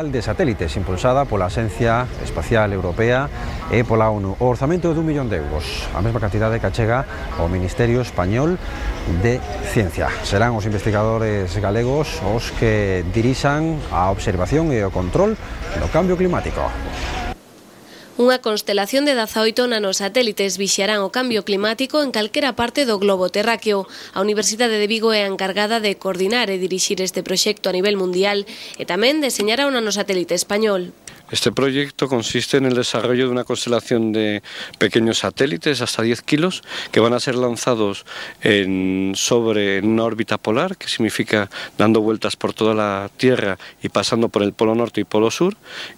de satélites impulsada pola Axencia Espacial Europea e pola ONU. O orzamento é d'1 millón de euros, a mesma cantidade que achega ao Ministerio Español de Ciencia. Serán os investigadores galegos os que dirixan a observación e o control do cambio climático. Unha constelación de 18 nanosatélites vixiarán o cambio climático en calquera parte do globo terráqueo. A Universidade de Vigo é a encargada de coordinar e dirixir este proxecto a nivel mundial e tamén deseñará un nanosatélite español. Este proyecto consiste en el desarrollo de una constelación de pequeños satélites hasta 10 kilos que van a ser lanzados sobre una órbita polar, que significa dando vueltas por toda la Tierra y pasando por el polo norte y polo sur,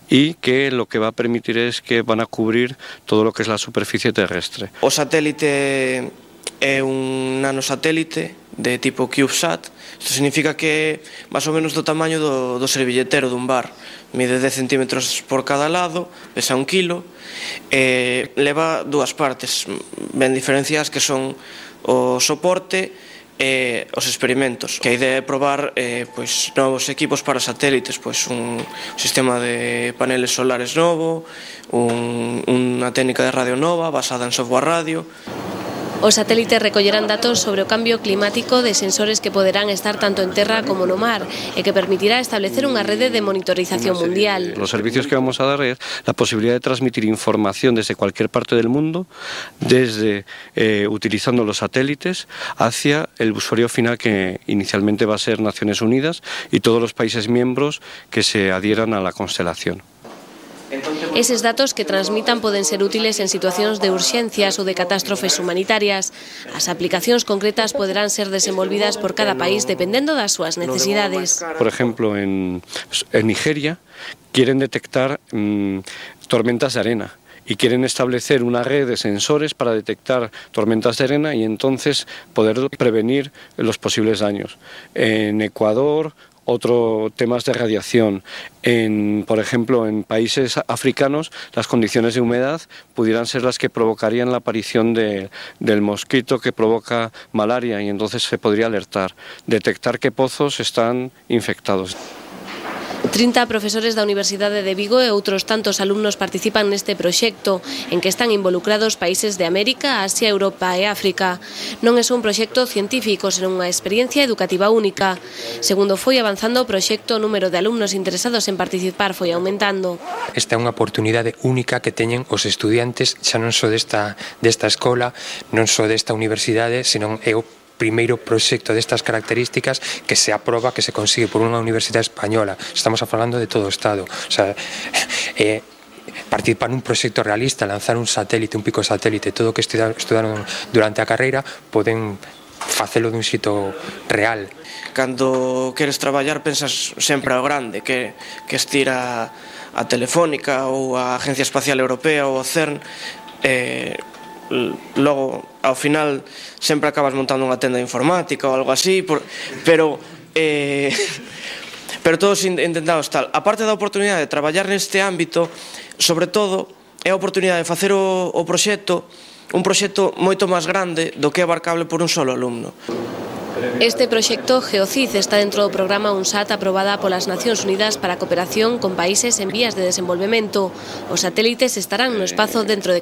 y que lo que va a permitir es que van a cubrir todo lo que es la superficie terrestre. O satélite é un nanosatélite de tipo CubeSat. Isto significa que é máis ou menos do tamaño do servilletero dun bar. Mide 10 centímetros por cada lado, pesa 1 kilo, e leva dúas partes ben diferenciadas, que son o soporte e os experimentos. Que a idea é probar novos equipos para satélites, un sistema de paneles solares novo, unha técnica de radio nova basada en software radio. Os satélites recollerán datos sobre o cambio climático de sensores que poderán estar tanto en terra como no mar e que permitirá establecer unha rede de monitorización mundial. Los servicios que vamos a dar es la posibilidad de transmitir información desde cualquier parte del mundo, utilizando los satélites, hacia el usuario final, que inicialmente va a ser Naciones Unidas y todos los países miembros que se adhieran a la constelación. Eses datos que transmitan poden ser útiles en situacións de urxencias ou de catástrofes humanitarias. As aplicacións concretas poderán ser desenvolvidas por cada país dependendo das súas necesidades. Por ejemplo, en Nigeria quieren detectar tormentas de arena y quieren establecer una red de sensores para detectar tormentas de arena y entonces poder prevenir los posibles daños. En Ecuador, temas de radiación. Por ejemplo, en países africanos, las condiciones de humedad pudieran ser las que provocarían la aparición del mosquito que provoca malaria, y entonces se podría alertar, detectar qué pozos están infectados. 30 profesores da Universidade de Vigo e outros tantos alumnos participan neste proxecto, en que están involucrados países de América, Asia, Europa e África. Non é só un proxecto científico, senón unha experiencia educativa única. Segundo foi avanzando o proxecto, o número de alumnos interesados en participar foi aumentando. Esta é unha oportunidade única que teñen os estudiantes, xa non só desta escola, non só desta universidade, senón é o primeiro proxecto destas características que se aproba, que se consigue por unha universidade española. Estamos falando de todo o Estado. O sea, participar nun proxecto realista, lanzar un satélite, un pico satélite, todo o que estudaron durante a carreira, poden facelo dun xito real. Cando queres traballar pensas sempre ao grande, que estira a Telefónica ou a Agencia Espacial Europea ou o CERN, logo ao final sempre acabas montando unha tenda informática ou algo así, pero todos intentamos tal. A parte da oportunidade de traballar neste ámbito, sobre todo é a oportunidade de facer o proxecto, un proxecto moito máis grande do que é abarcable por un solo alumno. Este proxecto GeoCid está dentro do programa UNSAT aprobada polas Nacións Unidas para a cooperación con países en vías de desenvolvemento. Os satélites estarán no espazo dentro de